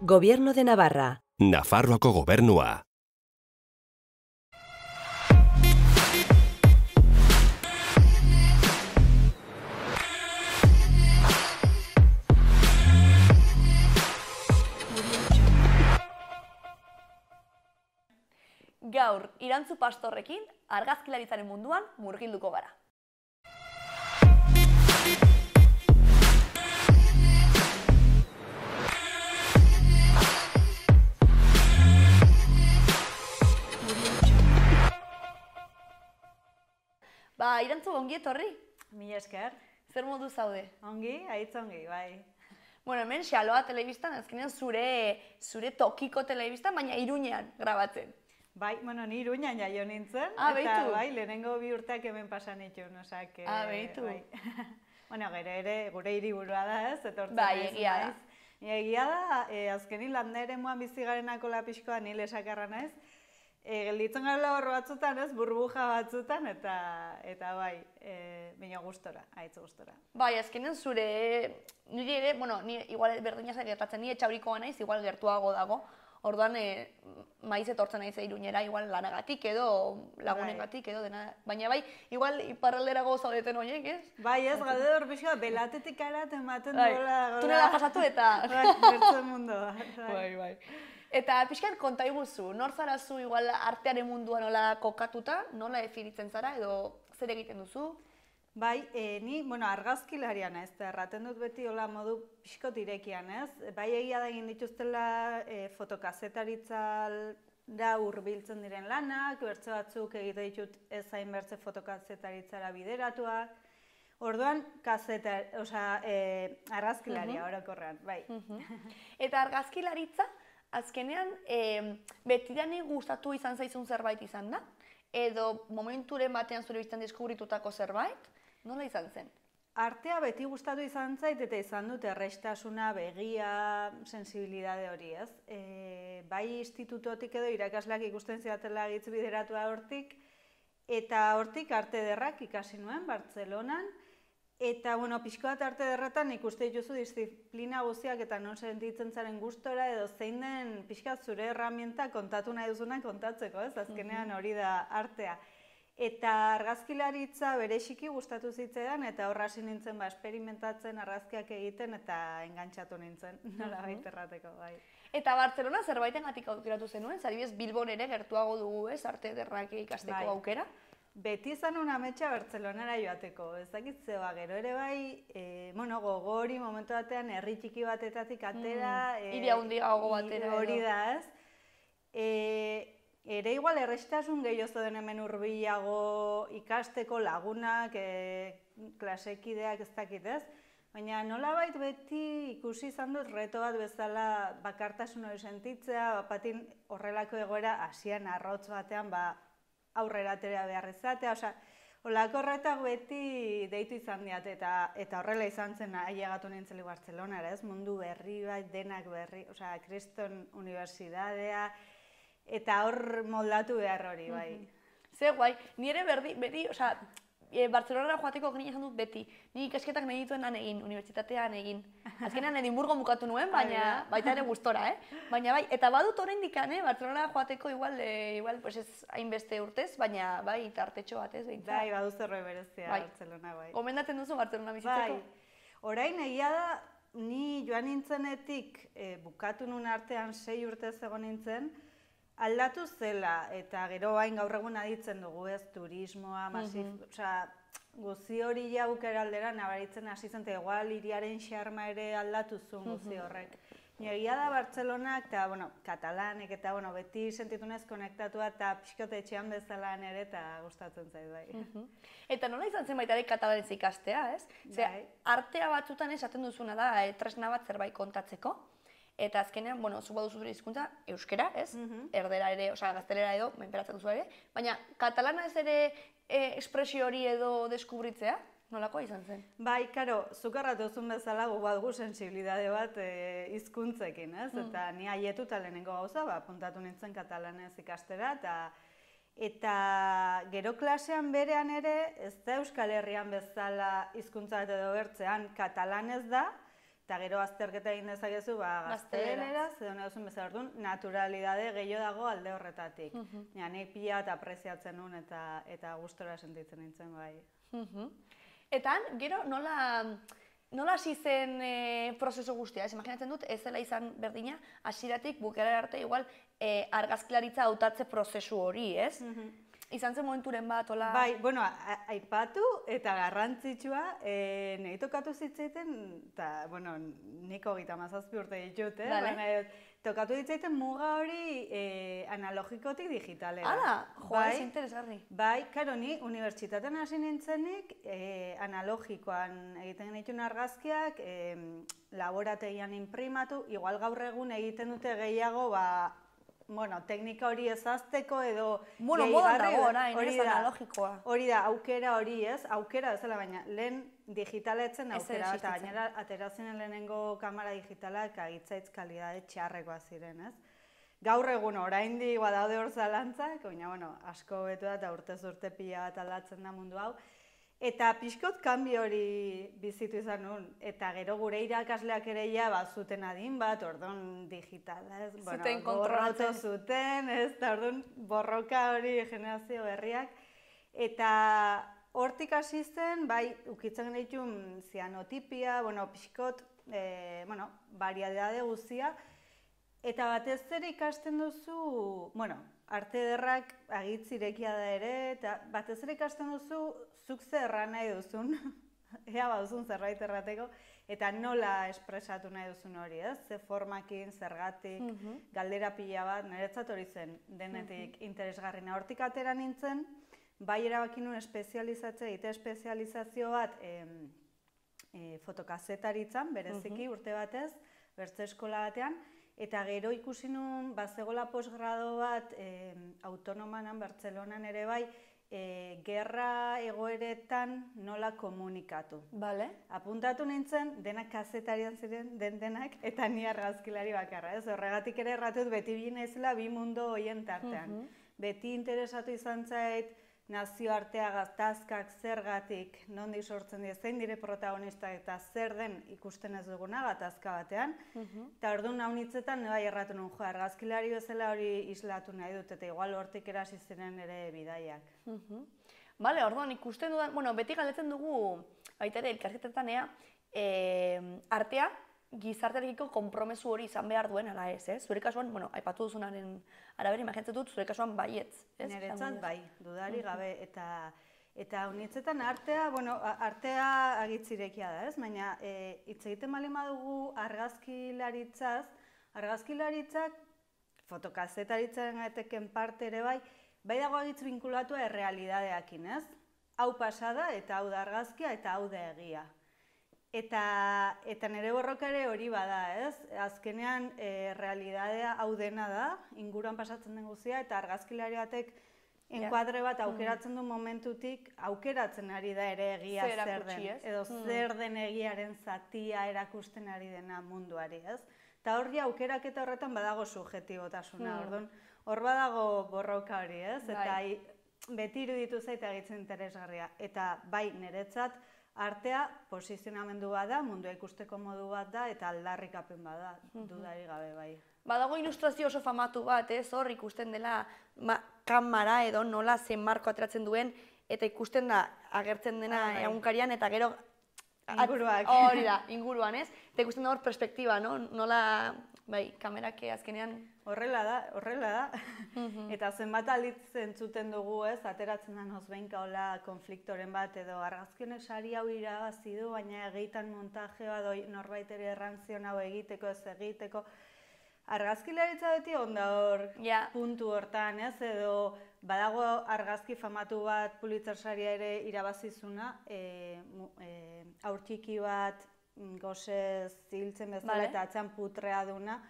Gobierno de Navarra. Nafarroako gobernua. Gaur, Irantzu Pastorrekin, argazkilaritzaren munduan murgilduko gara. Irantzu, ongi etorri? Mila esker. Zer modu zaude? Ongi, aitz ongi, bai. Bueno, hemen Xaloa telebistan, azkenean zure tokiko telebistan, baina Iruñean grabatzen. Bai, bueno, ni Iruñan jaio nintzen, eta bai, lehenengo 2 urteak hemen pasan itxun, osak... Behitu. Bueno, gero ere, gure hiriburua da ez, etortzen bai, egia da. Egia da, azkenin landa ere moan bizigarenako lapiskoa nile sakarra naiz, gelditzen gara hor batzutan ez, burbuja batzutan, eta bai, baina gustora, haitz gustora. Bai, azkenean niri ere, bueno, igual berdinazak gertatzen, nire etxaurikoa naiz, igual gertuago dago, orduan maiz etortzen naiz Iruñera, igual lanagatik edo lagunengatik edo dena, baina bai, igual iparralderago zaudeten horiek, ez? Bai, ez, gaude hor pixka, belatetik arat ematen duela. Tunela pasatu eta... Bertzen mundu. Bai. Eta pixkan konta iguzu, nor zara zu igual artearen mundua nola kokatuta, nola definitzen zara edo zer egiten duzu? Bai, ni, argazkilaria naiz, eta erraten dut beti hola modu pixkot irekian, ez? Bai egia da egin dituztela fotokazetaritza hurbiltzen diren lanak, bertze batzuk egite ditut ez hainbertze fotokazetaritzara bideratuak. Orduan, argazkilaria orokorrean, bai. Eta argazkilaritza, azkenean, betidani gustatu izan zaizun zerbait izan da? Edo momenturen batean zure biztan deskubritutako zerbait? Nola izan zen? Artea beti gustatu izan zait eta izan dut errestasuna, begia, sensibilidade hori, ez? Bai institutotik edo irakasleak ikusten zidatela gitz bideratua hortik, eta hortik arte ederrak ikasi nuen, Bartzelonan, eta, pixko bat arte derretan ikuste dituzu disiplina guztiak eta non sentitzen zaren gustora edo zein den pixka zure herramienta kontatu nahi duzunak kontatzeko, ez? Azkenean hori da artea. Eta argazkilaritza bereziki gustatu zitzaidan eta horra hasi nintzen esperimentatzen argazkiak egiten eta engantxatu nintzen, nola baita errateko, bai. Eta Bartzelona zerbaitengatik aukeratu zenuen? Adibidez Bilbon ere gertuago dugu, ez? Arte ederrak ikasteko aukera? Beti izan un ametsa Bartzelonara joateko, ez dakit zeba, gero ere bai, gogo hori momentu batean herri txiki batetatik atera, hiri handiago batera hori da, ez? Ere igual errestasun gehiozo den hemen hurbilago ikasteko lagunak, klasekideak ez dakit, ez? Baina nolabait beti ikusi izan dut reto bat bezala bakartasun hori sentitzea, bapatin horrelako egoera hasian arrotz batean, aurrera atera behar izatea, holako horretak beti deitu izan diat, eta horrela izan zen ailegatu nintzeli Bartzelonara, ez? Mundu berri bat, denak berri, Kriston Unibertsitatea, eta hor moldatu behar hori, bai. Ze guai, nire beti, Bartzelonara joateko gine izan dut beti. Ni ikasketak nahi dituen han egin, unibertsitatean egin. Azkenean Edinburgo bukatu nuen, baina baita ere gustora, Baina bai, eta badut oraindik Bartzelonara joateko igual ez hainbeste urtez, baina bai, tartetxo bat ez behintzat. Bai, badu zerbait berezia Bartzelona, bai. Gomendatzen duzu Bartzelona bizitzeko? Bai, orain egia da, ni joan nintzenetik bukatu nun artean 6 urtez egon nintzen, aldatu zela, eta gero bain gaur egun aditzen dugu, ez, turismoa, guzi hori jaukera aldera nabaritzen hasi zen, eta igual hiriaren xarma ere aldatu zuen guzi horrek. Egia da Bartzelonak, eta, katalanek, eta, beti sentitu naiz konektatua, eta pixkote etxean bezala ere, eta gustatzen zait, bai. Eta nola izan zen baita ere katalanez ikastea, ez? Artea batzutan esaten duzuna da, tresna bat zerbait kontatzeko, eta azkenean, zu baduzu zure hizkuntza euskera, ez? Erdera ere, gaztelera edo, menperatzen duzu ere, baina katalana ez ere espresio hori edo deskubritzea, nolakoa izan zen? Bai, karo, zuk arratuzun bezala badugu sensibilidade bat hizkuntzekin, ez? Eta ni haietuta lehenengo gauza, puntatu nintzen katalanez ikastera, eta gero klasean berean ere, ez da Euskal Herrian bezala hizkuntza bat edo bertzean, katalanez da, eta gero azterketa egin dezakezu gazteleraz, edo nahi duzun bezala, orduan, naturalidade gehiago dago alde horretatik. Nik pila eta apreziatzen nun eta gustora sentitzen nintzen bai. Eta gero nola hasi zen prozesu guztia? Imaginatzen dut, ez dela izan berdina, hasieratik bukaera arte igual argazkilaritza hautatze prozesu hori, ez? Izan zen momenturen bat, hola... Bai, bueno, aipatu eta garrantzitsua, nahi tokatu zitzaiten, eta, bueno, nik 37 urte ditut, baina tokatu ditzaiten muga hori analogikotik digitalera. Hala, ez interesgarri. Bai, karo, ni unibertsitatean hasi nintzenik analogikoan egiten genituen argazkiak, laborategian inprimatu, igual gaur egun egiten dute gehiago, teknika hori ezazteko edo modan dago orain, ez analogikoa. Hori da, aukera hori ez, aukera bezala, baina lehen digitaletzen aukera, eta gainera ateratzen lehenengo kamera digitalak agitzaitz kalidade txarrekoa ziren, ez? Gaur egun oraindik badaude hor zalantzak, baina, asko betu da eta urtez urte pila bat aldatzen da mundu hau. Eta pixkot kanbi hori bizitu izan nuen, eta gero gure irakasleak ere zuten adin bat, orduan digitala, ez? Zuten kontrolatzen. Zuten, ez? Eta orduan borroka hori generazio berriak. Eta hortik hasi zen, bai, ukitzen genituen zianotipia, pixkot, variedade guztia, eta batez ere ikasten duzu, arte ederrak agitzirekia da ere, eta batez ere ikasten duzu zuk zer erran nahi duzun, ea baduzun zerbait errateko, eta nola espresatu nahi duzun hori, ez? Ze formakin, zergatik, galdera pila bat, niretzat hori zen denetik interesgarrina. Hortik atera nintzen, bai erabaki nuen espezializazio bat fotokazetaritza, bereziki urte batez, bertze eskola batean, eta gero ikusi nuen, bazegola posgrado bat autonomanan, Bartzelonan ere bai, gerra egoeretan nola komunikatu. Apuntatu nintzen, denak kazetarian ziren denak, eta ni argazkilari bakarra. Horregatik ere erratut beti bi naizela bi mundu horien tartean. Beti interesatu izan zait nazioartea gatazkak zergatik, nondik sortzen dira, zein dire protagonista eta zer den ikusten ez duguna gatazka batean. Eta orduan haunitzetan bai erratu nuen, argazkilari bezala hori islatu nahi dut, eta igual hortik erasi ziren ere bidaiak. Bale, orduan ikusten dudan, beti galdetzen dugu, baita ere, elkarrizketetan artea, gizartearekiko konpromesu hori izan behar duen, ala ez, ez? Zure kasuan, aipatu duzunaren arabera, imaginatzen dut, zure kasuan baietz, ez? Niretzat bai, dudari gabe, eta honitzetan artea agitzirekia da, ez? Baina, hitz egiten baldin badugu argazkilaritzaz, argazkilaritzak, fotokazetaritzaren gaiteken parte ere bai dago agitz vinkulatua errealidadeakin, ez? Hau pasada, eta hau da argazkia, eta hau da egia. Eta nire borroka ere hori bada, ez? Azkenean, realidadea hau dena da, inguruan pasatzen den guztia, eta argazkilari batek enkuadre bat aukeratzen du momentutik, aukeratzen ari da ere egia zer den. Edo zer den egiaren zatia erakusten ari dena munduari, ez? Eta hori aukeraketa horretan badago subjektibotasuna, orduan, hor badago borroka hori, ez? Eta beti iruditu zait egitzen interesgarria. Eta bai, niretzat, artea posizionamendu bat da, mundua ikusteko modu bat da, eta aldarrikapen bat da, dudari gabe bai. Badago ilustrazio oso famatu bat, ez? Hor ikusten dela kamara edo nola zen marko ateratzen duen, eta ikusten da agertzen dena egunkarian, eta gero... Inguruak. Hori da, inguruan, ez? Eta ikusten da hor perspektiba, nola, kamerak azkenean... Horrela da. Eta zenbat alditz entzuten dugu, ez? Ateratzen da nozbeinka hola konfliktoren bat, edo argazkionek sari hau irabazi du, baina egiten montajea norbait ere errantzion hau egiteko, ez egiteko. Argazkilaritza beti onda hor puntu hortan, ez? Edo badago argazki famatu bat Pulitzer saria ere irabazizuna, aurtxiki bat gozez hiltzen bezala eta atzean putrea duna.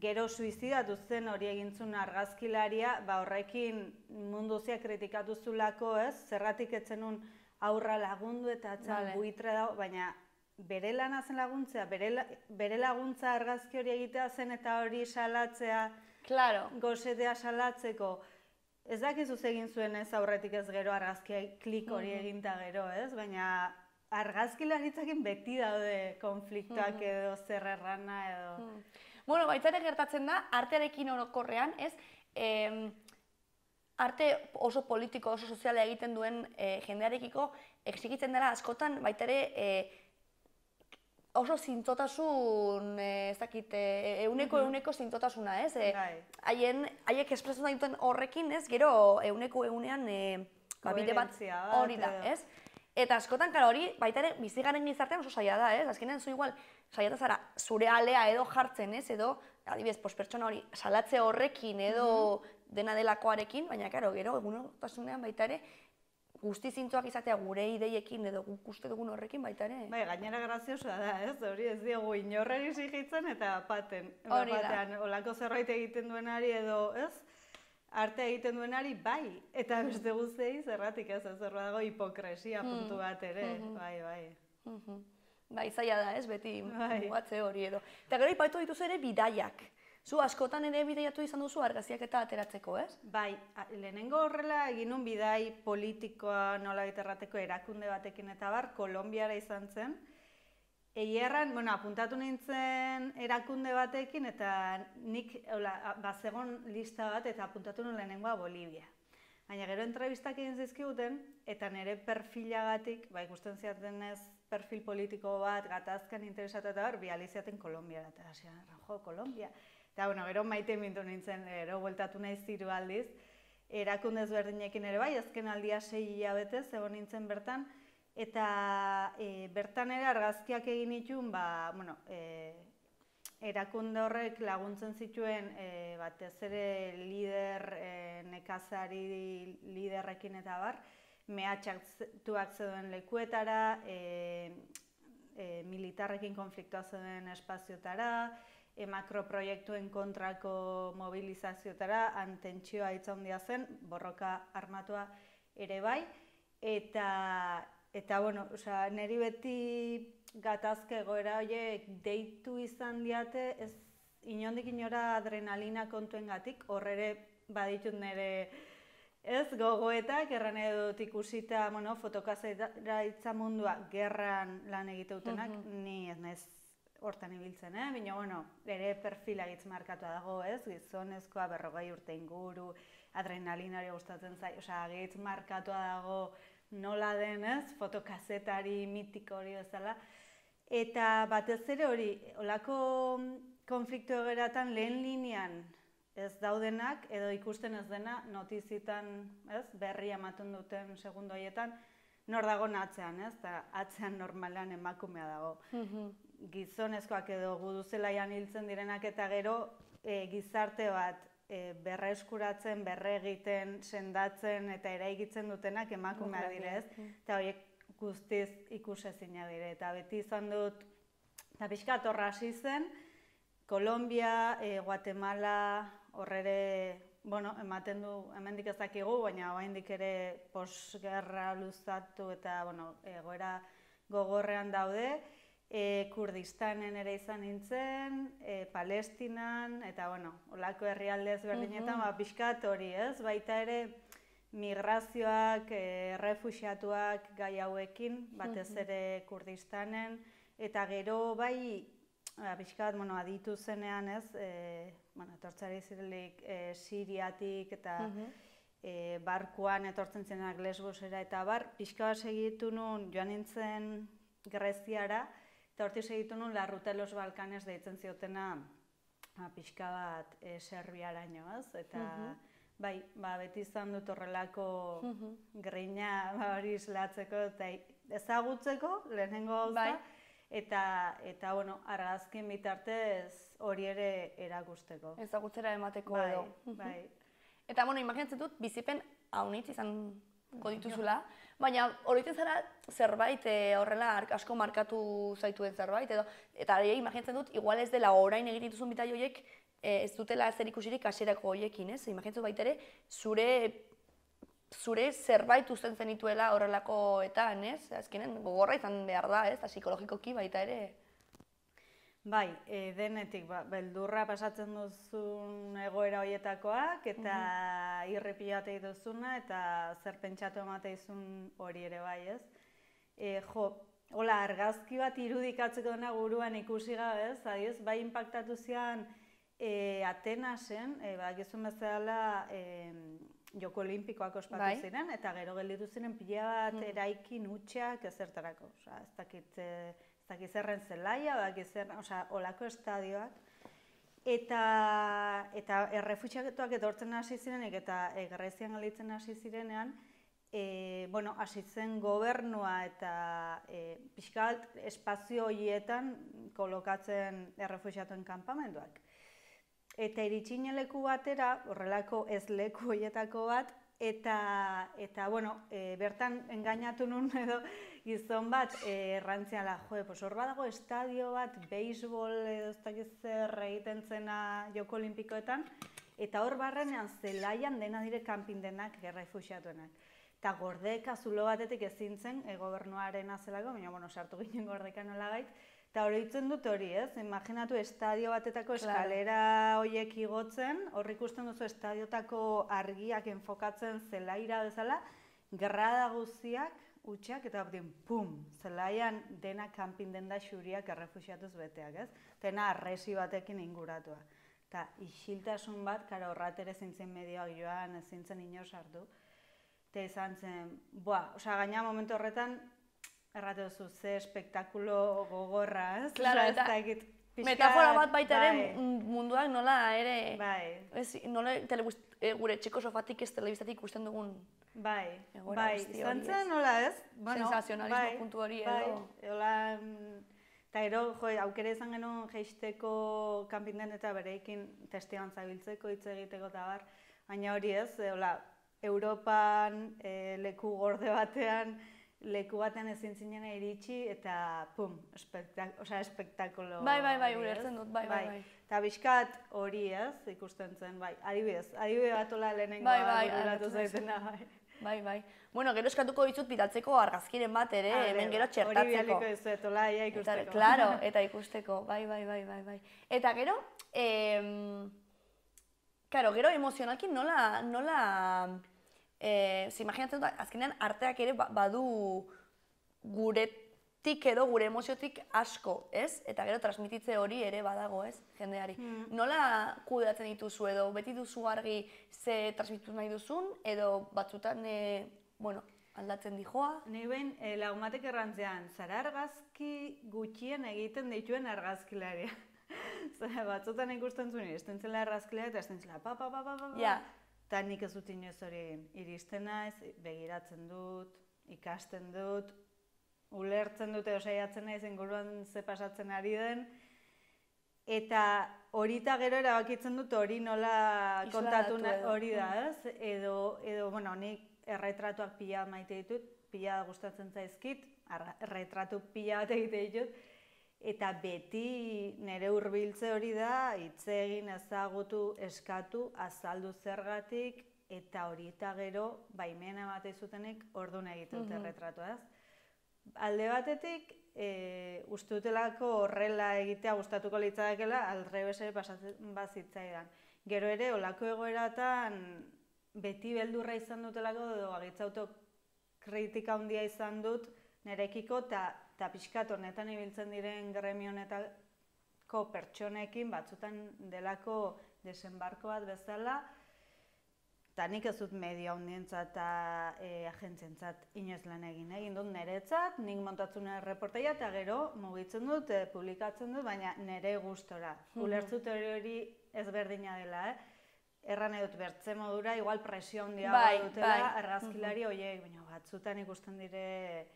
Gero suizidatu zen hori egintzun argazkilaria, horrekin munduzia kritikatu zulako, ez? Zergatik etzenun aurra lagundu eta atzean buitre dago, baina bere lana zen laguntzea, bere laguntza argazki hori egitea zen eta hori salatzea, gozetea salatzeko. Ez dakizuz egin zuen ez aurretik ez gero argazkia klik hori eginta gero, ez? Baina argazkilaritzakin beti daude konfliktoak edo zer errana edo... Bueno, baita ere gertatzen da, artearekin orokorrean, ez? Arte oso politiko, oso soziala egiten duen jendearekiko exigitzen dela askotan baita ere oso zintzotasun, ez dakit, euneko zintzotasuna, ez? Haiek espresu nahi duten horrekin, ez? Gero egunean bide bat hori da, ez? Eta askotan, karo, hori baita ere bizigaren gizartean oso saia da, ez? Azkenean zu igual saiatu zara zure alea edo jartzen, ez? Edo, adibidez, pertsona hori salatze horrekin edo dena delakoarekin, baina, karo, gero egunotasunean baita ere guzti zintzoak izatea gure ideiekin edo guk uste dugun horrekin baita ere. Bai, gainera graziosoa da, ez? Hori ez diogu inorreri zigitzen eta batean olako zerbait egiten duenari edo, ez? Arte egiten duenari bai, eta beste guztiei zerratik ez dago hipokresia puntu bat ere, bai. Bai, zaila da, ez, beti mugatze hori edo. Eta gero ipaitu dituzu ere bidaiak. Zu askotan ere bidaiatu izan duzu argazkiak eta ateratzeko, ez? Bai, lehenengo horrela egin nun bidai politikoa nola errateko erakunde batekin eta bar, Kolonbiara izan zen. Eierran, apuntatu nintzen erakunde batekin eta nik bazegon lista bat eta apuntatu nun lehenengoa Bolivia. Baina gero entrevistak egin zizkiguten eta nire perfilagatik, ikusten ziaten ez perfil politiko bat, gatazkan interesatu eta bar, bializiaten Kolonbiara. Eta hasian, Kolombia. Eta gero maite mintu nintzen, gero bueltatu nahiz 3 aldiz, erakunde ezberdinekin ere bai, azken aldia 6 hilabetez, egon nintzen bertan, eta bertan ere argazkiak egin nituen, erakunde horrek laguntzen zituen batez ere lider, nekazari liderrekin eta bar, mehatxatuak zeuden lekuetara, militarrekin konfliktua zeuden espaziotara, makroproiektuen kontrako mobilizazioetara, tentsioa hitza handia zen, borroka armatua ere bai, eta niri beti gatazke egoera horiek deitu izan diate, ez inondik inora adrenalina kontuengatik, hor ere baditut nire gogoetak, erran edut ikusita fotokazetara mundua gerran lan egiteutenak, ni ez naiz hortan ibiltzen, baina ere perfila gitz markatua dago, gizonezkoa 40 urte inguru, adrenalinari gustatzen zai, gitz markatua dago nola den, fotokazetari mitiko hori bezala. Eta batez ere hori, olako konfliktu egeratan lehen linean ez daudenak, edo ikusten ez dena, notizitan berri ematen duten segundo horietan, nor dago atzean, eta atzean normalan emakumea dago. Gizonezkoak edo guduzelaian hiltzen direnak eta gero gizarte bat berreskuratzen, berregiten, sendatzen eta eraikitzen dutenak emakumeak direz, eta horiek guztiz ikusezina dire. Eta beti izan dut, eta pixkat horra hasi zen, Kolombia, Guatemala, horrere, ematen du, hemendik ez dakigu, baina oraindik ere posgerra luzatu eta egoera gogorrean daude. Kurdistanen ere izan nintzen, Palestinan, eta olako herrialde ezberdinetan, pixkat hori ez, baita ere migrazioak, errefuxiatuak gai hauekin, batez ere Kurdistanen, eta gero bai, pixkat, aditu zenean ez, etortzari zirelik Siriatik eta barkuan etortzen zenak Lesbosera eta bar, pixka bat segitu nun joan nintzen Greziara, eta hortik segitu nun La Ruta de los Balcanes deitzen ziotena pixka bat Serbiaraino, eta bai, beti izan dut horrelako grina hori islatzeko eta ezagutzeko lehenengo gauza, eta argazkien bitartez hori ere erakusteko. Ezagutzera emateko edo. Bai. Eta, imaginatzen dut, bizipen haunitz izango dituzula, baina oroitzen zara zerbait horrela asko markatu zaituen zerbait, eta imaginatzen dut, igual ez dela orain egin dituzun bitai horiek ez dutela zer ikusirik hasierako horiekin, ez? Imaginatzen bait ere, zure zerbait uzten zenituela horrelakoetan, ez? Azkenen gogorra izan behar da, ez? Psikologikoki baita ere. Bai, denetik, beldurra pasatzen duzun egoera horietakoak, eta irripilate duzuna, eta zer pentsatu emate izun hori ere bai, ez? hola, argazki bat irudikatzeko dena guruan ikusi gabe, ez? Adiez, bai inpaktatu zian Atenasen, gizun bezala Joko Olimpikoak ospatu ziren, eta gero gelditu ziren pila bat eraikin hutsak ezertarako. Ez dakit zerren zelaia, olako estadioak. Eta errefuxiatuak etortzen hasi zirenek eta Grezian gelditzen hasi zirenean, hasi zen gobernua eta pixka bat espazio horietan kolokatzen errefuxiatuen kanpamenduak. Eta iritsi leku batera, horrelako ez leku horietako bat, eta bertan engainatu nun edo gizon bat errantziala, hor badago estadio bat, beisbol edo ez dakiz zer egiten zena Joko Olimpikoetan, eta hor barrenean zelaian dena dire kanpin denak errefuxiatuenak. Eta gordeka zulo batetik ezin zen, gobernuaren azelako, baina sartu ginen gordeka nolabait, eta hori ditzen dut hori, ez? Imaginatu estadio batetako eskalera horiek igotzen, hor ikusten duzu estadiotako argiak enfokatzen zelaira bezala, grada guztiak, hutsak, eta pum, zelaian dena kanpin denda xuriak errefuxiatuz beteak, ez? Dena arresi batekin inguratua. Eta isiltasun bat, karo horratere zintzen medioak joan, ez zintzen inor sartu. Eta izan zen, gaina momentu horretan, errate duzu, ze espektakulo gogorra, ez? Claro, eta metafora bat baita ere munduak nola ere, nola gure txeko sofatik ez telebistatik ikusten dugun egora guzti hori, izan zen nola, ez? Sensazionalismo puntu hori edo. Eta aukera izan genuen jeisteko kanpinden eta bereikin testigan zabiltzeko, hitz egiteko eta bar, baina hori ez, Europan leku gorde batean, leku batean ezin zinen iritsi eta pum, espektakulo. Bai, ulertzen dut, bai. Eta bizkat hori ez, ikusten zen, adibidez bat ola lehenengoa bururatu zaitena, Bai. Bueno, gero eskatuko ditut bidaltzeko argazkiren bat ere, hemen gero txertatzeko. Hori bialiko dizuet, ola ia ikusteko. Claro, eta ikusteko, bai. Eta gero, gero emozionalki nola imaginatzen dut, azkenean arteak ere badu guretik edo gure emoziotik asko, ez? Eta gero transmititze hori ere badago, ez? Jendeari. Nola kudeatzen dituzu edo beti duzu argi ze transmititu nahi duzun edo batzutan, aldatzen dijoa? Ni behin lagumatek errantzean, zara argazki gutxien egiten dituen argazkilaria. Batzutan ikusten zuen, izten zela argazkilaria eta izten zela eta nik ez dut inoiz hori egin. Iristen naiz, begiratzen dut, ikasten dut, ulertzen dut edo saiatzen naiz inguruan ze pasatzen ari den, eta hori eta gero erabakitzen dut hori nola kontatu hori da, ez? Edo, nik erretratuak pila maite ditut, pila gustatzen zaizkit, erretratu pila bat egite ditut, eta beti nire hurbiltze hori da, hitz egin, ezagutu, eskatu, azaldu zergatik, eta hori eta gero, baimena emate zutenek, orduan egiten dute erretratua, ez? Alde batetik, uste dutelako horrela egitea gustatuko litzadakela, aldrebes ere pasatzen bazitzaidan. Gero ere, olako egoeratan, beti beldurra izan dutelako, edo agitzauto kritika handia izan dut, nirekiko, eta pixkat honetan ibiltzen diren gremio honetako pertsonekin batzutan delako desembarko bat bezala, eta nik ez dut medio handientzat eta agentzientzat inoiz lan egin dut niretzat, nik montatzen erreportaia eta gero mugitzen dut, publikatzen dut, baina nire gustora. Ulertzut hori ezberdina dela, erran edut bertze modura, igual presio handia dutela argazkilari horiek, baina batzutan ikusten dire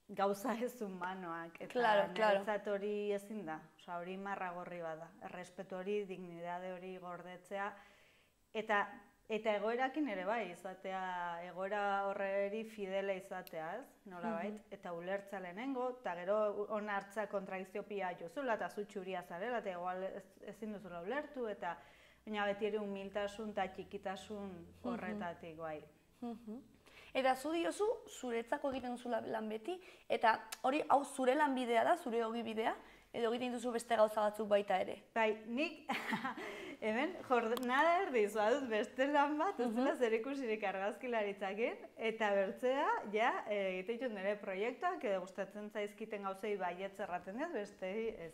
gauza ez humanoak, eta niretzat hori ezin da, hori marra gorri bada, errespetu hori, dignidade hori gordetzea, eta egoerakin ere bai izatea, egoera horreri fidele izatea, ez, nolabait, eta ulertza lehenengo, eta gero hona hartza kontradikzio pila jozula, eta zu txuria zarela, eta igual ezin duzula ulertu, eta baina beti ere humiltasun eta txikitasun horretatik, bai. Eta zu diozu, zuretzako egiten duzu lan beti, eta hori hau zure lanbidea da, zure hobi bidea, edo egiten duzu beste gauza batzuk baita ere? Bai, nik hemen jornada erdiz badut beste lan bat, ez dela zerikusirik argazkilaritzakin, eta bertzea, ja, egiten ditut nire proiektuak, edo gustatzen zaizkiten gauzei baietz erraten dut, bestei ez.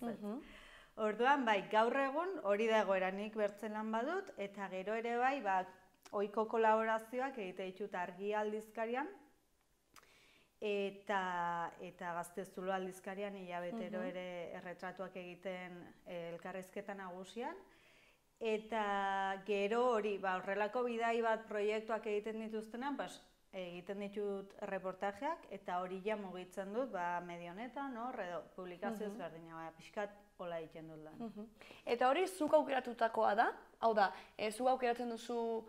Orduan, bai, gaur egun hori da egoera nik bertzen lan badut, eta gero ere bai, ohiko kolaborazioak egiten ditut Argi aldizkarian, eta Gaztezulo aldizkarian hilabetero ere erretratuak egiten elkarrizketa nagusian. Eta gero hori, horrelako bidai bat proiektuak egiten dituztenan, egiten ditut reportajeak, eta hori ja mugitzen dut medio honetan, edo publikazio ezberdina, pixkat hola egiten dut lan. Eta hori zuk aukeratutakoa da? Hau da, zuk aukeratzen duzu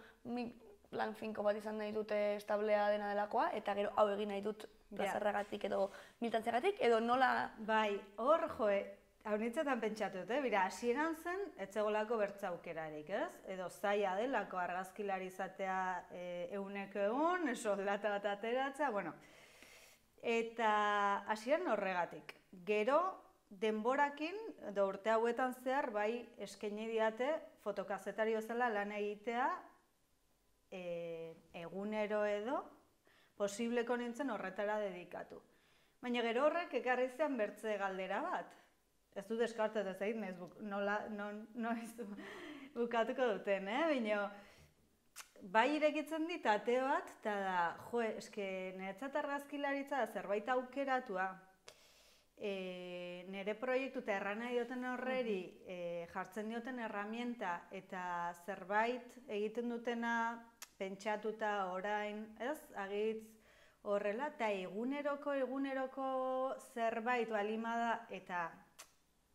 plan finko bat izan nahi dute establea dena delakoa, eta gero hau egin nahi dut plazerragatik edo militantziagatik, edo nola... Bai, hor hau nintzetan pentsatu dut, bera, hasieran zen, etzegolako bertza aukerarik, ez? Edo zaila delako argazkilari izatea eguneko egun, soldata bat ateratzea, bueno. Eta hasieran horregatik. Gero, denborakin, edo urte hauetan zehar, bai, eskaini diate fotokazetari bezala lan egitea, egunero edo, posibleko nintzen horretara dedikatu. Baina gero horrek ekarri zean bertze galdera bat. Ez du deskartet ez egin, noiz bukatuko duten, baina bai irekitzen dit ate bat, eta da, niretzat argazkilaritza da zerbait aukeratua, nire proiektu eta erran nahi duten horreri jartzen dioten erramienta eta zerbait egiten dutena pentsatuta orain, ez, agitz horrela, eta eguneroko zerbait balimada eta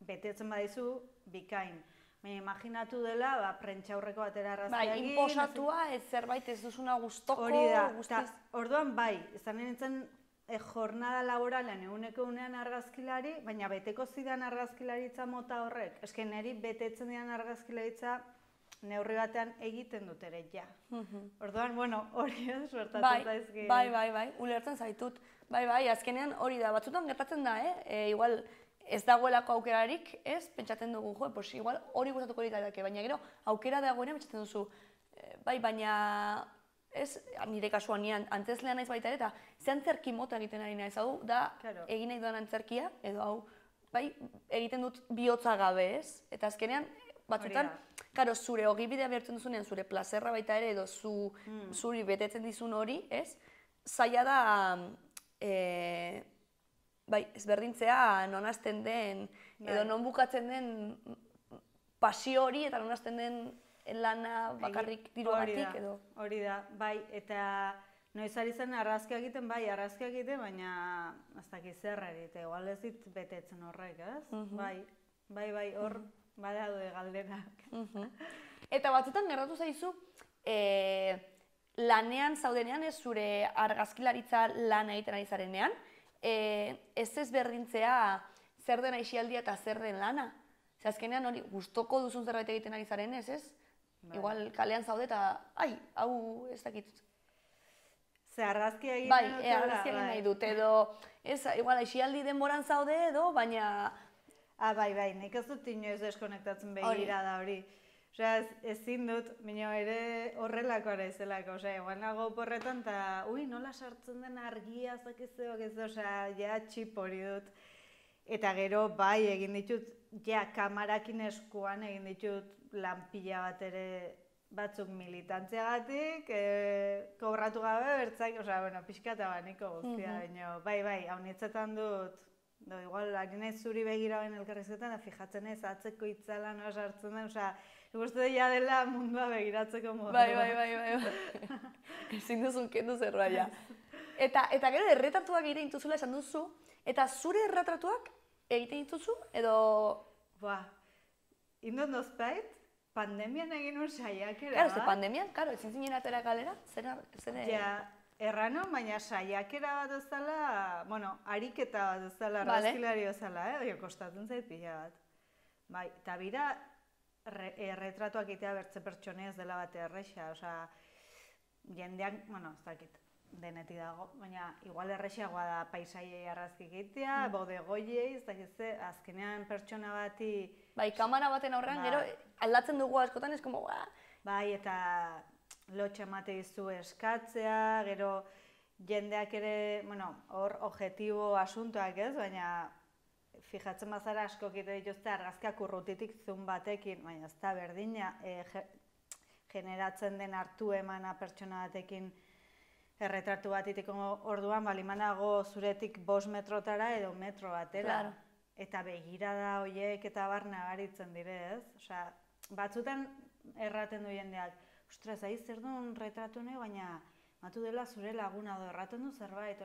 betetzen badizu bikain. Baina imaginatu dela, prentxaurreko batera arrazkia egin. Bai, inposatua, ez zerbait ez duzuna gustoko, hori da, eta orduan bai, izan nintzen jornada laboralean eguneko unean argazkilari, baina beteko zidan argazkilaritza mota horrek. Eske niri betetzen dian argazkilaritza neurri batean egiten dut ere, ja. Orduan, bueno, hori ez, suertatzen zaizki. Bai, ulertzen zaitut. Bai, azkenean hori da, batzutan gertatzen da, igual ez dagoelako aukerarik, ez, pentsatzen dugu, pues igual hori gustatuko litzaidake, baina gero aukera dagoenean pentsatzen duzu, bai, baina ez, nire kasuan nian antzezlea naiz baita ere, eta ze antzerki mota egiten ari naiz, hau da egin nahi dudan antzerkia, edo hau, bai, egiten dut bihotza gabe, ez, eta azkenean batzutan, karo, zure ogibidea behartzen duzunean, zure plazerra baita ere, edo zuri betetzen dizun hori, ez, zaila da, bai, ezberdintzea non hasten den, edo non bukatzen den pasio hori, eta non hasten den lana bakarrik diruagatik, edo. Hori da, bai, eta noiz ari zen argazkia egiten, baina ez dakiz zer egite, igual ez dit betetzen horrek, ez? Bai, hor, badaude galderak. Eta batzutan gertatu zaizu, lanean zaudenean, ez zure argazkilaritza lan egiten ari zarenean, ez ezberdintzea zer den aisialdia eta zer den lana. Ze azkenean hori gustoko duzun zerbait egiten ari zaren ez? Igual kalean zaude eta, hau ez dakit. Ze argazkia egin nahi dut? Bai, argazkia egin nahi dut, edo, igual aisialdi denboran zaude edo, baina... Bai, nik ez dut inoiz deskonektatzen begira da hori. Osea, ezin dut, baina ere horrelako ara izelako. Osea, egual nago porretan eta, nola sartzen den argia, zakizteok ez, osea, ja txip hori dut. Eta gero, bai, egin ditut, ja, kamarakin eskuan egin ditut lan pila bat ere batzuk militantziagatik, kobratu gabe, bertzak, osea, bueno, pixkata baniko guztia, baina, bai, hau nitzetan dut, igual, ari nahi zuri begira baina elkarrizketan, fijatzen ez, atzeko itzala noa sartzen den, osea, ikuste ja dela mundua begiratzeko modu. Bai. Ezin duzun kendu zerbait. Eta gero erretratuak egiten dituzula esan duzu, eta zure erretratuak egiten dituzu, edo... Indot nozpait, pandemian egin un saiakera. Claro, ze pandemian, ezin zinen atera kalera, zene... Errano, baina saiakera bat ezala, bueno, ariketa bat ezala, argazkilari ezala, kostatzen zait pila bat. Bai, eta bira, erretratuak egitea bertze pertsonea ez dela bat erreixa, osea, jendeak, bueno, ez dakit. denetik dago, baina igual erresiagoa da paisaiei argazki egitea, bodegoiei, ez dakiz ze, azkenean pertsona bati... Bai, kamera baten aurrean, gero aldatzen dugu askotan, ez como, Bai, eta lotxa emate dizu eskatzea, gero jendeak ere, bueno, hor objektibo asuntoak ez, baina fijatzen bazara asko kite dituzte argazkiak urrutitik zoom batekin, baina ez da berdina generatzen den hartu emana pertsona batekin erretratu bat itiko orduan, balimanago zuretik 5 metrotara edo metro batera. Claro. Eta begirada horiek eta bar nabaritzen dire, ez? Osea, batzutan erraten du jendeak, ostras, zer duen retratu nahi, baina matu dela zure laguna do, erraten du zerbait.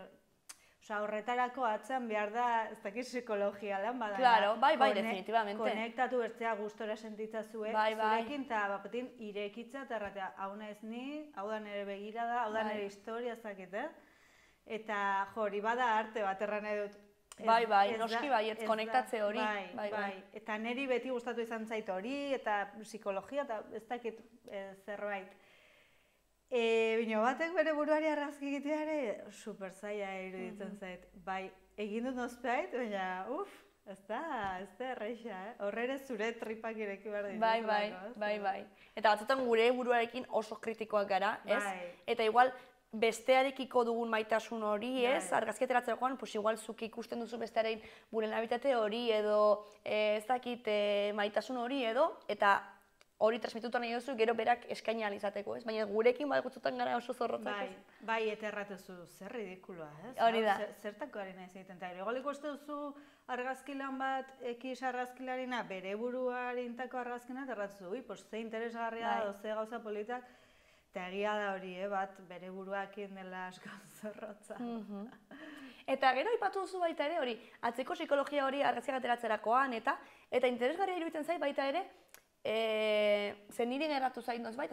Osea, horretarako atzean behar da, ez dakit psikologia lan badana. Claro, bai, definitivamente. Konektatu bertzea gustora sentitzazue, zurekin eta bapatin irekitza eta erratea, hau naiz ni, hau da nire begirada, hau da nire historia zakit, Eta hori bada arte bat erran nahi dut. Bai, noski bai, ez konektatze hori. Bai. Eta niri beti gustatu izan zait hori, eta psikologia, eta ez dakit zerbait. Bino batek bere buruari argazki egitea ere super zaila iruditzen zait. Bai, egin dut nozpeit, baina ez da erreixa, Horre ere zure tripak ireki behar ditu. Bai. Eta batzutan gure buruarekin oso kritikoak gara, ez? Eta igual bestearekiko dugun maitasun hori, ez? Argazki ateratzerakoan, igual zuk ikusten duzu bestearen vulnerabilitate hori edo ez dakit maitasun hori edo, eta hori transmitutu nahi duzu gero berak eskaini ahal izateko, ez? Baina gurekin batzutan gara oso zorrotzak, ez? Bai, eta erratuzu, zer ridikuloa, ez? Hori da. Zertako ari nahi zaiten, eta igual ikusten duzu argazkilan bat, X argazkilarina, bere buruari intako argazkina, eta erratuzu, ze interesgarria da, ze gauza politak, eta egia da hori, bat bere buruakin dela asko zorrotza. Eta gero aipatu duzu baita ere hori, atzeko psikologia hori argazkiak ateratzerakoan, eta interesgarria iruditzen zait baita ere, zen niri geratu zait nozbait,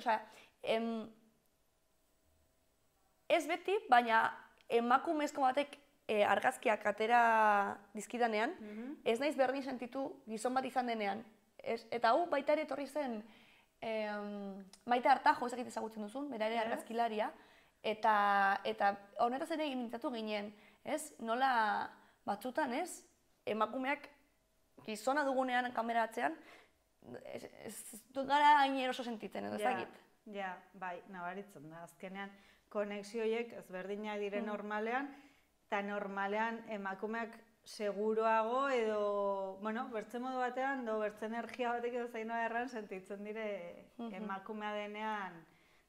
ez beti, baina emakumezko batek argazkiak atera dizkidanean, ez naiz berdin sentitu gizon bat izan denean. Eta hau baita ere etorri zen Maite Artajo ezakit ezagutzen duzun, bera ere argazkilaria, eta honetaz ere mintzatu ginen, ez? Nola batzutan, ez? Emakumeak gizona dugunean kamera atzean, ez dut gara hain eroso sentitzen, edo ezakit. Ja, bai, nabaritzen da. Azkenean, konexioiek ezberdinak dire normalean, eta normalean emakumeak seguruago edo, bertze modu batean, bertze energia batek edo zainoa erran sentitzen dire emakumea denean.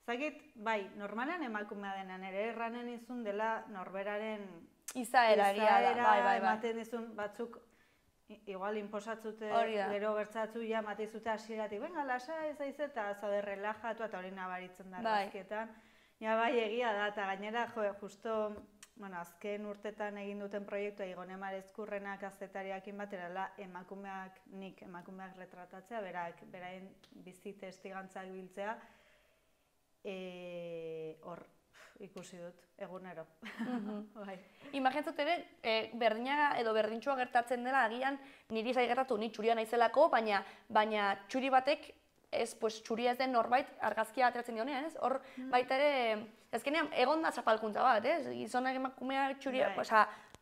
Zagit, bai, normalean emakumea denean, ere erranen izun dela norberaren izaera ematen izun batzuk igual inposatzute, gero bertzatzu ja matizute hasieratik, venga, lasa ez aiz eta zaude relajatu eta hori nabaritzen da argazkietan. Ja, bai, egia da, eta gainera, justo, azken urtetan egin duten proiektua Igone Marezkurrena kazetariakin batera emakumeak retratatzea, beraien bizi testigantzak biltzea, hor ikusi dut, egunero. Imaginatzat ere, berdina edo berdintxua gertatzen dela agian niri zai gertatu, ni txuria naizelako, baina txuri batek, txuria ez den norbait argazkia ateratzen dionean, ez? Hor baita ere, azkenean egon da zapalkuntza bat, ez? Gizonak emakumeak txuria,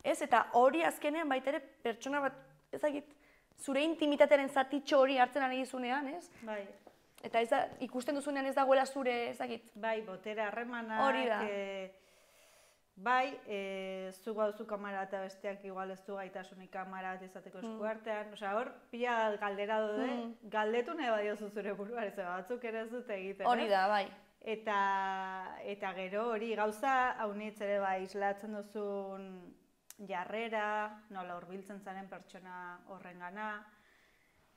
ez? Eta hori azkenean baita ere pertsona bat, ezagit, zure intimitatearen zatitxo hori hartzen ari gizunean, ez? Bai. Eta ikusten duzunean ez dagoela zure, ezagit? Bai, botere harremanak. Hori da. Bai, zu gauzu kamara eta besteak igual ez du gaitasunik kamara bat izateko eskuartean. Osea, hor, pila galdera dode, galdetu nahi badiozu zure buruari, batzuk ere ez dute egiten. Hori da, bai. Eta gero hori gauza haunitz ere islatzen duzun jarrera, nola hurbiltzen zaren pertsona horrengana.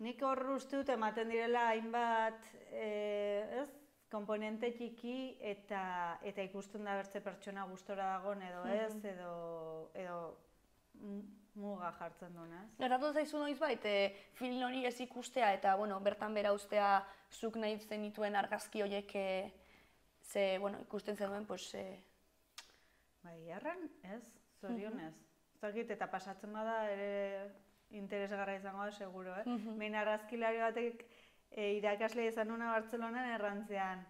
Nik hor uste dut ematen direla hainbat, komponente txiki eta ikusten da bertze pertsona gustora dagoen edo ez, edo muga jartzen duena. Gertatu zaizu noizbait, film hori ez ikustea eta bertan bera ustea zuk nahi zenituen argazki horiek ikusten zenuen, Bai, arren ez, zorionez. Zagit eta pasatzen bada ere interesgarra izango da, seguro, Behin argazkilari batek irakasle izan nuna Bartzelonan errantzean.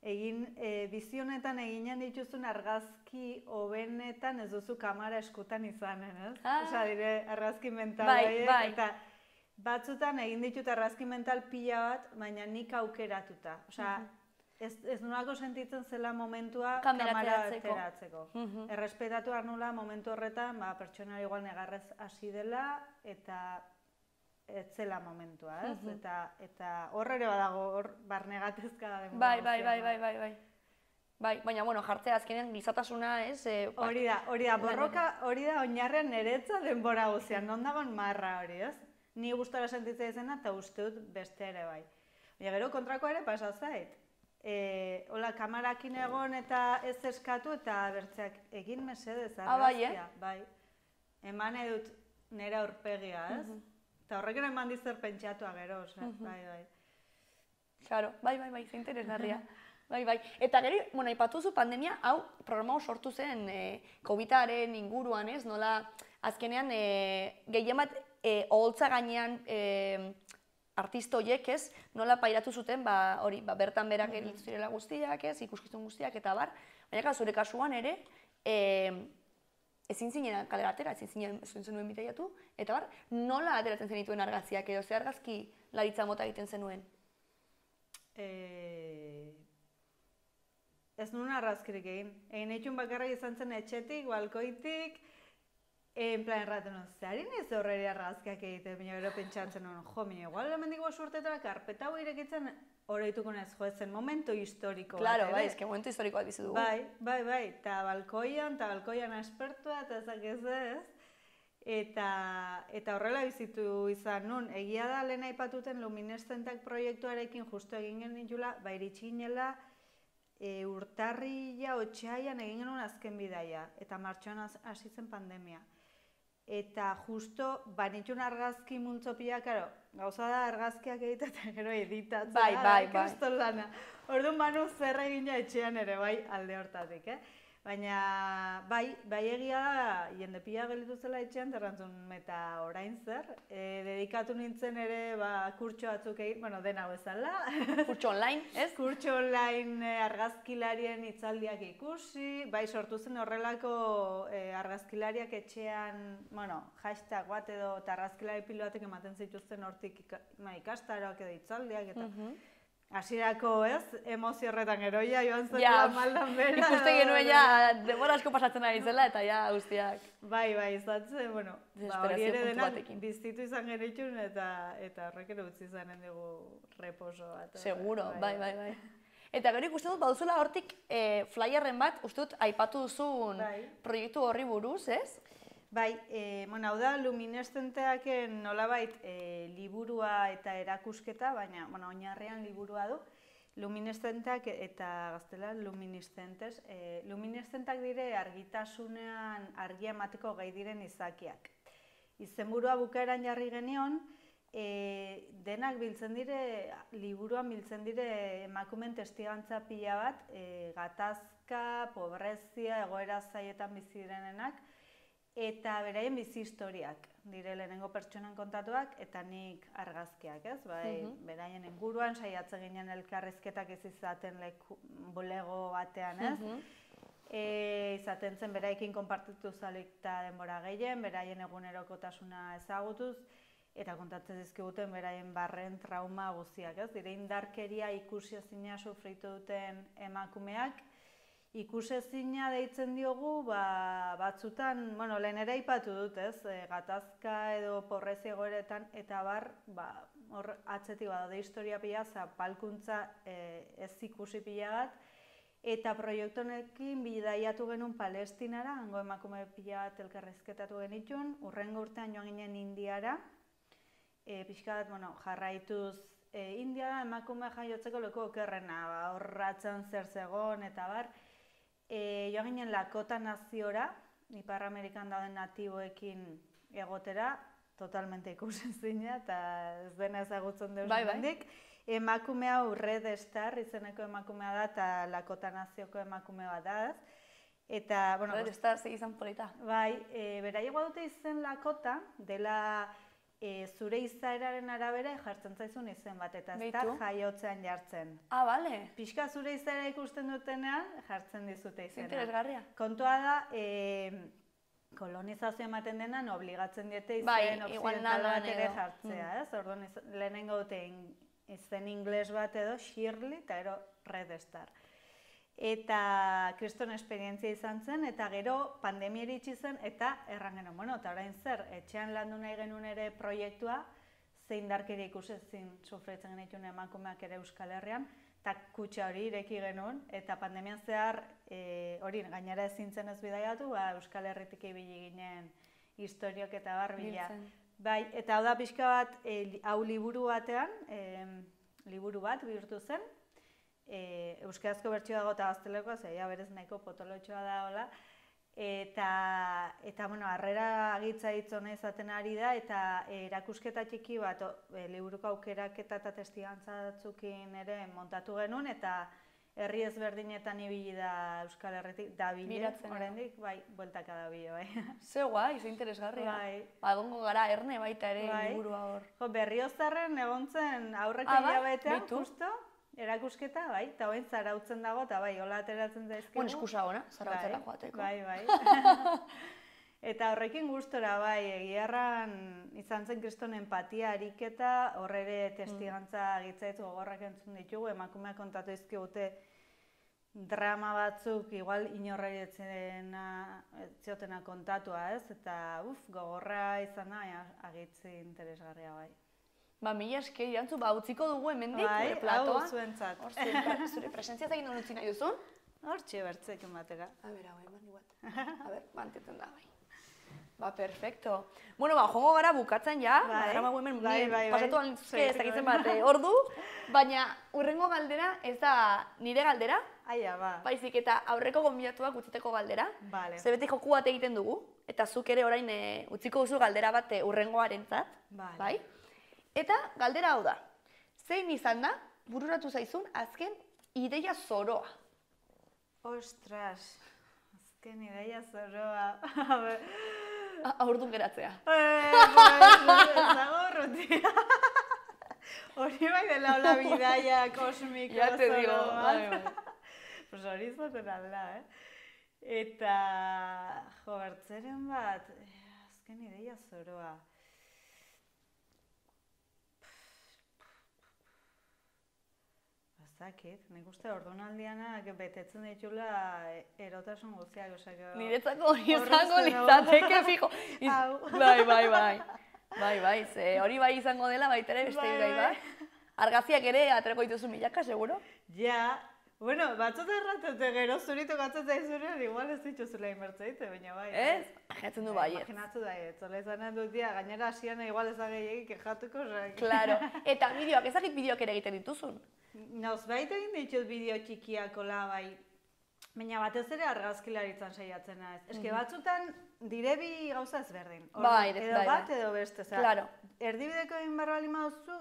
bizionetan eginen dituzun argazki hobenetan ez duzu kamera eskutan izanen, ez? Osa, dire, argazki mental horiek, eta batzutan egin ditut argazki mental pila bat, baina nik aukeratuta. Osa, ez nolako sentitzen zela momentua kamera ateratzeko. Errespetatu arnula momentu horretan, pertsonari igual negarrez hasi dela, eta ez zela momentua, ez? Eta hor ere badago, hor barnegatezka da denbora. Bai, baina, bueno, jartzea azkenean gizatasuna, ez? Hori da, borroka, hori da oinarren niretza denbora guztian, non dagoen marra hori, ez? Ni gustora sentitzea izena, eta uste dut beste ere bai. Baina gero kontrako ere pasa zait. Hola, kamerakin egon eta ez eskatu eta bertzeak egin mesedez argazkia. Bai, eman edut nera aurpegia, ez? Eta horrekin eman dizer pentsatua gero, bai. Claro, bai, ze interesgarria. Bai. Eta gero, bueno, aipatuzu pandemia, hau programa sortu zen COVID-aren inguruan, ez? Nola, azkenean, gehien bat, oholtza gainean artista horiek, ez? Nola pairatu zuten, hori, bertan berak gelditu zirela guztiak, ez? Ikuskizun guztiak, eta bar. Baina, zure kasuan ere, ezin zinen kalera atera, ezin zenuen bitaiatu, eta bar, nola ateratzen zenituen argazkiak, edo ze argazki laritza mota egiten zenuen? Ez nuen argazkirik egin. Egin eitxun bakarrak izan zen etxetik, balkoitik, en plan erraten hon, zeharin ez horreri argazkiak egite, baina gero pentsatzen hon, baina igual lamendiko suertetara karpeta hau irekitzen horreituko nez, zen momentu historiko bat, Claro, bai, eske momentu historiko bat bizi dugu. Bai, eta balkoian aspertua, eta ezak ez, eta horrela bizitu izan nun, egia da lehen aipatuten lumineszentak proiektuarekin justu egin genitula, iritsi ginela, urtarrila, otxaian egin genuen azken bidaia, eta martxoan hasi zen pandemia. Eta justo, banitxun argazki multzopia, karo, gauza da argazkiak egite eta gero editatzea, kriston lana. Orduan banu zer egina etxean ere, bai, alde hortatik, Baina, bai egia da, jende pila gelditu zela etxean, terrantzun, eta orain zer, dedikatu nintzen ere, kurtso batzuk egin, bueno, dena bezala. Kurtso online, ez? Kurtso online argazkilarien hitzaldiak ikusi, bai sortu zen horrelako argazkilariak etxean, bueno, hashtag bat edo, eta argazkilari pilo batek ematen zituzten hortik ikastaroak edo hitzaldiak, eta hasierako, ez, emozio horretan geroia, joan zela maldan bera. Ikuste genuen ja, denbora asko pasatzen ari zela, eta ja guztiak. Bai, izatzen, bueno, hori ere denak biztitu izan genitxun, eta horrek ere utzi zanen dugu reposo bat. Seguro, bai. Eta gero ikusten dut, baduzula hortik flyerren bat, uste dut, aipatu duzun proiektu horri buruz, ez? Bai, hau da, lumineszenteaken nolabait liburua eta erakusketa, baina, oinarrian liburua du, lumineszenteak eta gaztela luminescentes. Lumineszentak dire argitasunean argia emateko gai diren izakiak. Izenburua bukaeran jarri genion, denak biltzen dire, liburuan biltzen dire emakumeen testigantza pila bat, gatazka, pobrezia, egoera zaietan bizi direnenak, eta beraien bizi historiak, dire lehenengo pertsonan kontatuak, eta nik argazkiak, ez? Beraien inguruan saiatzen ginen elkarrizketak ez izaten bulego batean, ez? Izaten zen beraiekin konpartitu zalikta denbora gehien, beraien egunerokotasuna ezagutuz, eta kontatzen dizkiguten beraien barren trauma guztiak, ez? Dire indarkeria ikusi ezina sufritu duten emakumeak, ikusezina deitzen diogu, batzutan, lehen ere aipatu dut, ez, gatazka edo pobrezia egoeretan, eta hor atzetik badaude historia pila, zapalkuntza ez ikusi pila bat, eta proiektu honekin bidaiatu genuen Palestinara, hango emakume pila bat elkarrizketatu genituen, hurrengo urtean joan ginen Indiara, pixka bat, jarraituz, Indiara emakume jaiotzeko leku okerrena, horratzen zer zegon, eta joan ginen Lakota naziora, Ipar Amerikan dauden natiboekin egotera, totalmente ikusezina, eta ez dena ezagutzen deus hendik. Emakume hau Red Star izeneko emakumea da, eta Lakota nazioko emakume bat da, eta, Red Star izan polita. Bai, beraiek dute izen Lakota, dela zure izaeraren arabera jartzen zaizun izen bat, eta ez da jaiotzean jartzen. Ah, bale. Pixka zure izaera ikusten dutenean jartzen dizute izena. Interesgarria. Kontua da, kolonizazio ematen denan obligatzen diete izen occidental bat ere jartzea, ez? Orduan lehenengo dute izen ingles bat edo Shirley eta gero Red Star. Eta kriston esperientzia izan zen, eta gero pandemia iritsi zen, eta erran genuen, bueno, eta orain zer, etxean landu nahi genuen ere proiektua, zein darkeria ikusezin sufritzen genituen emakumeak ere Euskal Herrian, eta kutxa hori ireki genuen, eta pandemian zehar hori gainera ezin zen ez bidaiatu, Euskal Herritik ibili ginen historiok eta barbila. Bai, eta hau da pixka bat, hau liburu batean, liburu bat bihurtu zen, euskarazko bertsioa dago eta gaztelekoa, zeia berez nahiko potolotxoa da hola, eta bueno, harrera agitza hitzona izaten ari da, eta erakusketa txiki bat, liburuko aukeraketa eta testigantza batzukin ere montatu genuen, eta herri ezberdinetan ibili da Euskal Herritik, dabile, oraindik, bai, bueltaka dabile, bai. Ze guai, ze interesgarria. Ba, egongo gara, erne baita ere liburua hor. Berriozarren egon zen aurreko hilabetean, justo, erakusketa, bai, eta hoen zarautzen dago, eta bai, hola ateratzen zaizkigu. Bueno, eskusa ona, zarautzera joateko. Bai, bai. Eta horrekin gustora, bai, egiarran izan zen kriston empatia ariketa, horre ere testigantza agitzaitz gogorrak entzun ditugu, emakumeak kontatu izkigute drama batzuk, igual inorrari etziotena kontatua, ez? Eta, gogorra izan da, agitzi interesgarria, bai. Ba, mila esker, Irantzu, ba, utziko dugu hemendik, gure platoa. Hau zuentzat. Zure presentzia egin non utzi nahi duzun? Hortxe bertzekin batera. A ber, hau, eman igual. A ber, mantetzen da, bai. Ba, perfecto. Bueno, ba, jongo gara bukatzen ja, drama hemen pasatu altzke ez dakitzen bat ordu, baina urrengo galdera ez da nire galdera, baizik eta aurreko gonbidatuak utziteko galdera. Ze beti joku bat egiten dugu, eta zuk ere orain utziko duzu galdera bat urrengoarentzat, bai? Eta galdera hau da, zein izan da, bururatu zaizun, azken ideia zoroa? Ostras, azken ideia zoroa. Aurdun geratzea. Ezago urrutia. Hori bai dela hola bidaia kosmiko zoroa. Ya te digo, bai. Pues hori izaten alda, Eta, jo, bertzeren bat, azken ideia zoroa. Zakit, nik uste ordunaldianak betetzen ditula erotasun guztiak, osake... Niretzako izango litzateke, fijo. Bai, ze hori bai izango dela baita ere beste gai bat. Argaziak ere aterako dituzu milaka, seguro? Ja, bueno, batzut erratete gero zuritu gatzen zaizunean, igual ez dituzula inbertzeite, baina bai. Ez? Imaginatzen du bai, ez. Imaginatzu da, zola izanen dut dia, gainera hasian igual ez da gehiagik kejatuko, osake... Claro, eta bideoak, ezakit bideoak ere egiten dituzun? Nauzbait egin ditut bideo txikiak hola bai, baina batez ere argazkilaritzan saiatzen naiz. Eske batzutan dire bi gauza ezberdin. Edo bat edo beste. Erdibideko egin barra bali maduzu,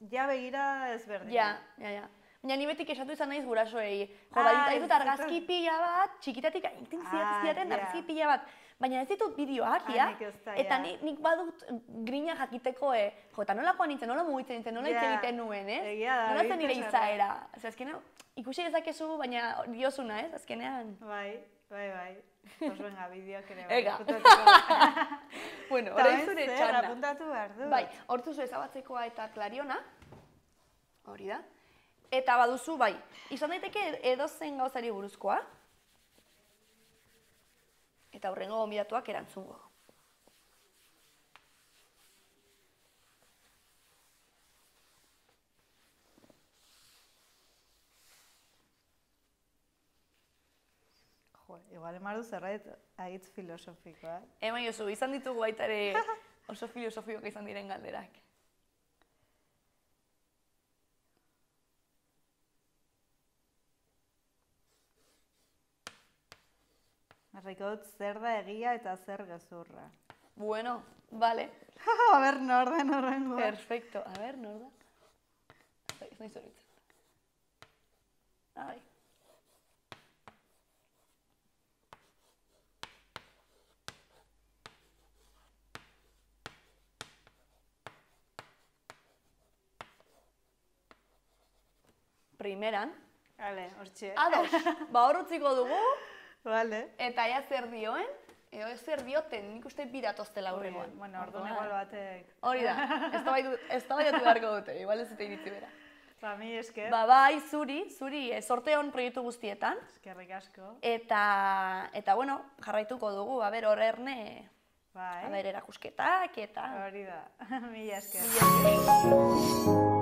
ja begira ezberdin. Ja. Baina ni betik esatu izan naiz gurasoei. Baditut argazki pila bat, txikitatik egiten zidaten argazki pila bat. Baina ez ditut bideoak, eta nik badut grina jakiteko, eta nolakoan nintzen, nola mugitzen nintzen, nola hitz egiten nuen, nola zen nire izaera. Azkenean, ikusi dezakezu, baina diozuna, azkenean. Bai. Pues venga, bideoak ere. Ega. Bueno, orain zure txanda. Apuntatu behar du. Bai, hortuzu ezabatzekoa eta klariona, hori da. Eta baduzu, bai, izan daiteke edozen gauzari buruzkoa, eta hurrengo gonbidatuak erantzungo. Jo, igual emaru zerbait agitz filosofikoa. Eman jozu, izan ditugu baita ere oso filosofikoak izan diren galderak. Arraiko dut zer da egia eta zer gezurra. Bueno, vale. A ber, nor den horrengoa. Perfecto. A ber, nor da? Ez nahi zoritzen. Ai. primeran. Vale, hortxe. Ados, ba hor utziko dugu, Vale. eta ea zer dioen, edo zer dioten, nik uste bidatoztela hurrengoan. Bueno, orduan igual batek. Hori da, eztabaidatu beharko dute, igual ez dute iritzi bera. Ba, mi esker. Ba, bai, zuri, sorte hon proiektu guztietan. Eskerrik asko. Eta bueno, jarraituko dugu, hor erne, Bai. erakusketak, eta... Hori da, mila esker. Mila esker.